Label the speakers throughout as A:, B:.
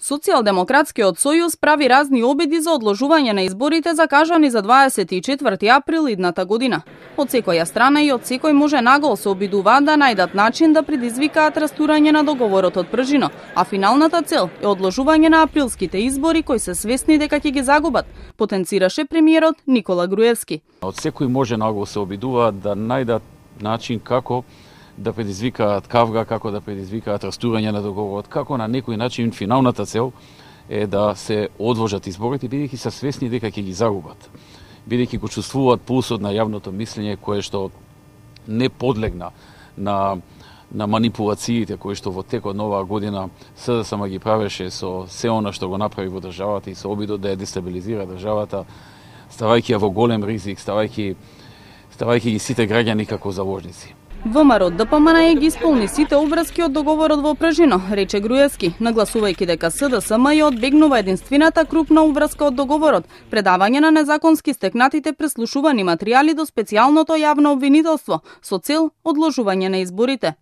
A: Социјалдемократскиот сојуз прави разни обиди за одложување на изборите закажани за 24 април идната година. Од секоја страна и од секој може нагол се обидуваат да најдат начин да предизвикаат растурање на договорот од пржино, а финалната цел е одложување на априлските избори кои се свесни дека ќе ги загубат, потенцираше премиерот Никола Груевски.
B: Од секој може нагол се обидуваат да најдат начин како да предизвикаат кавга, како да предизвикаат растурање на договорот, како на некој начин финалната цел е да се одложат изборите, бидејќи се свесни дека ќе ги загубат, бидејќи го чувствуваат пулсот на јавното мислење кое што не подлегна на манипулациите кои што во текот на оваа година СДСМ ги правеше со се она што го направи во државата и со обидот да ја дестабилизира државата, ставајќи ја во голем ризик, ставајќи ги сите граѓани како заложници.
A: ВМРО ДПМН ги исполни сите обврски од договорот во пржино, рече Груевски, нагласувајќи дека СДСМ ја одбегнува единствената крупна обврска од договорот, предавање на незаконски стекнатите преслушувани материјали до специјалното јавно обвинителство со цел одложување на изборите.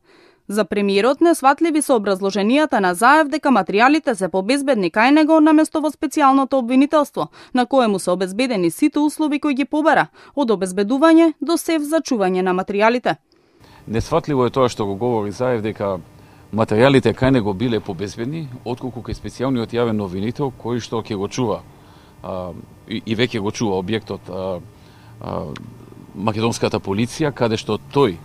A: За премиерот несватливи се образложенијата на Заев дека материјалите се побезбедни кај него наместо во специјалното обвинителство, на коему се обезбедени сите услови кои ги побара, од обезбедување до сев за чување на материјалите.
B: Несватливо е тоа што го говори Заев дека материјалите кај него биле побезбедни, отколку кај специјалниот јавен обвинител кој што ќе го чува и веќе го чува објектот македонската полиција, каде што тој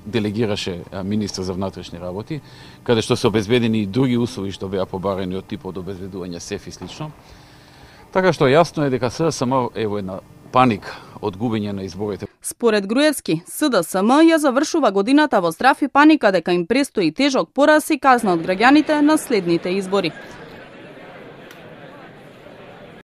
B: делегираше министр за внатрешни работи, каде што се обезбедени и други услови што беа побарани од типот обезбедување сеф и слично. Така што јасно е дека СДСМ е во една паника од губење на изборите.
A: Според Груевски, СДСМ ја завршува годината во страв и паника дека им престои тежок пораз и казна од граѓаните на следните избори.